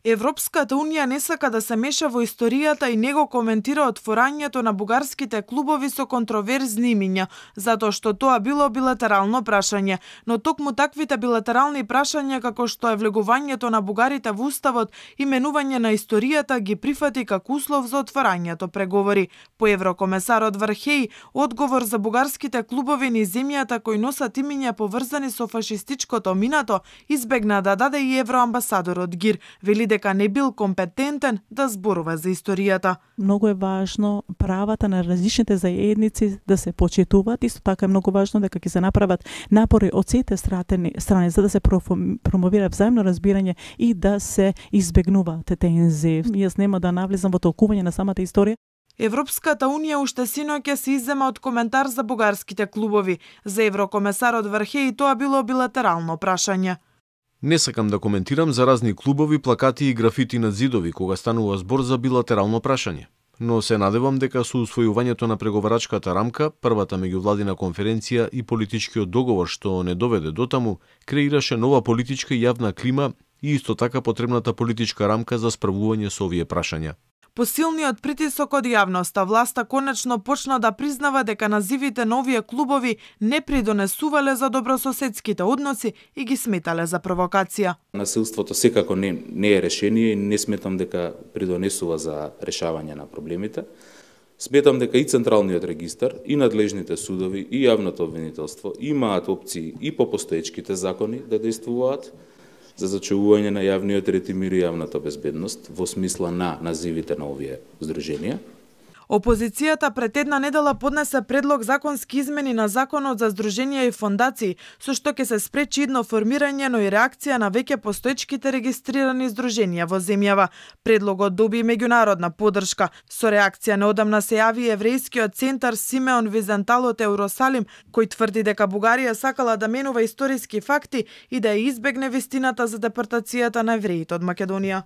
Европската унија не сака да се меша во историјата и не го коментира отворањето на бугарските клубови со контроверзни имиња, затоа што тоа било билатерално прашање. Но токму таквите билатерални прашања, како што е влегувањето на бугарите во уставот и менување на историјата, ги прифати како услов за отворањето преговори. По еврокомесарот Вархеј, одговор за бугарските клубови низ земјата кои носат имиња поврзани со фашистичкото минато, избегна да даде и евроамбасадорот Гир. Вели дека не бил компетентен да зборува за историјата. Многу е важно правата на различните заедници да се почитуваат. Исто така е многу важно дека ќе се направат напори од сите страни за да се промовира взаимно разбирање и да се избегнуваат тензии. Јас нема да навлезам во толкување на самата историја. Европската унија уште синоќ се иззема од коментар за бугарските клубови. За еврокомесарот Вархеј тоа било билатерално прашање. Не сакам да коментирам за разни клубови, плакати и графити на зидови кога станува збор за билатерално прашање. Но се надевам дека со усвојувањето на преговарачката рамка, првата меѓувладина конференција и политичкиот договор што не доведе дотаму, креираше нова политичка и јавна клима и исто така потребната политичка рамка за справување со овие прашања. По силниот притисок од јавноста, власта конечно почна да признава дека називите на овие клубови не придонесувале за добрососедските односи и ги сметале за провокација. Насилството секако не е решение и не сметам дека придонесува за решавање на проблемите. Сметам дека и Централниот регистар, и надлежните судови, и јавното обвинителство имаат опции и по постоечките закони да действуваат за зачувување на јавниот ред и мир и јавната безбедност во смисла на називите на овие здруженија. Опозицијата пред една недела поднесе предлог законски измени на Законот за здруженија и фондации, со што ќе се спречи идно формирање, но и реакција на веќе постоечките регистрирани здруженија во земјава. Предлогот доби меѓународна поддршка. Со реакција неодамна се јави еврејскиот центар Симеон Визентал од Ерусалим, кој тврди дека Бугарија сакала да менува историски факти и да ја избегне вистината за депортацијата на евреите од Македонија.